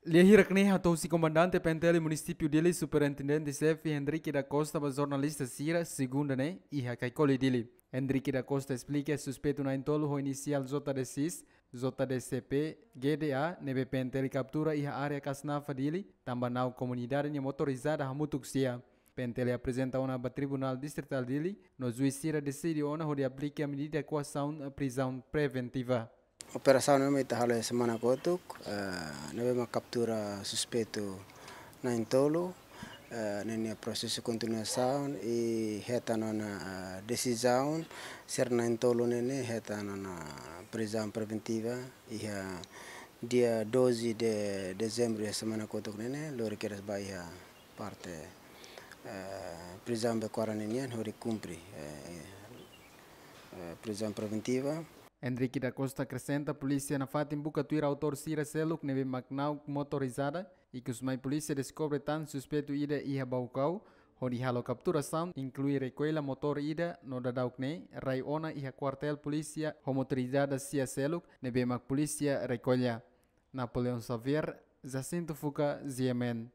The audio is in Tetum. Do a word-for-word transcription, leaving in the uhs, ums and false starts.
Lia hirak ne'e hato'o husi Komandante P N T L Munisípiu Dili, Superintendente Xefe Hendrique da Costa ba jornalista sira, segunda ne'e, iha Caicoli, Dili. Hendrique da Costa esplika suspeitu na'in-tolu ho inisiál J D X, J D C P, G D A, ne'ebé P N T L kaptura iha área Kasnafa, Dili, tanba na'ok komunidade nia motorizada hamutuk sia. P N T L aprezenta ona ba Tribunál Distritál Dili, no juís sira deside ona hodi aplika medida koasaun prizaun preventiva. Operasaun ne'ebé ita halo iha semana kotuk, eh, ne'ebé mak kaptura suspeitu na'in-tolu, eh, ne'e nia prosesu kontinuasaun i hetan ona, eh, desizaun, sira na'in-tolu ne'e hetan ona prizaun preventiva, iha dia doze de dezembru iha semana kotuk ne'e, lori kedas ba iha parte, eh, prizaun Baquara ninian, hodi kumpre, eh, eh, prizaun preventiva. Hendrique da Costa akresenta polísia nafatin buka tuir autór sira seluk ne'ebé mak na'ok motorizada, ikus mai polísia deskobre tan suspeitu ida iha Baucau, hodi halo kapturasaun, inklui rekuella motór ida no daudaun ne'e rai ona iha kuartél polísia ho motorizada sia seluk ne'ebé mak polísia rekuella. Napoleão Xavier, Jacinto Fuca, G M N.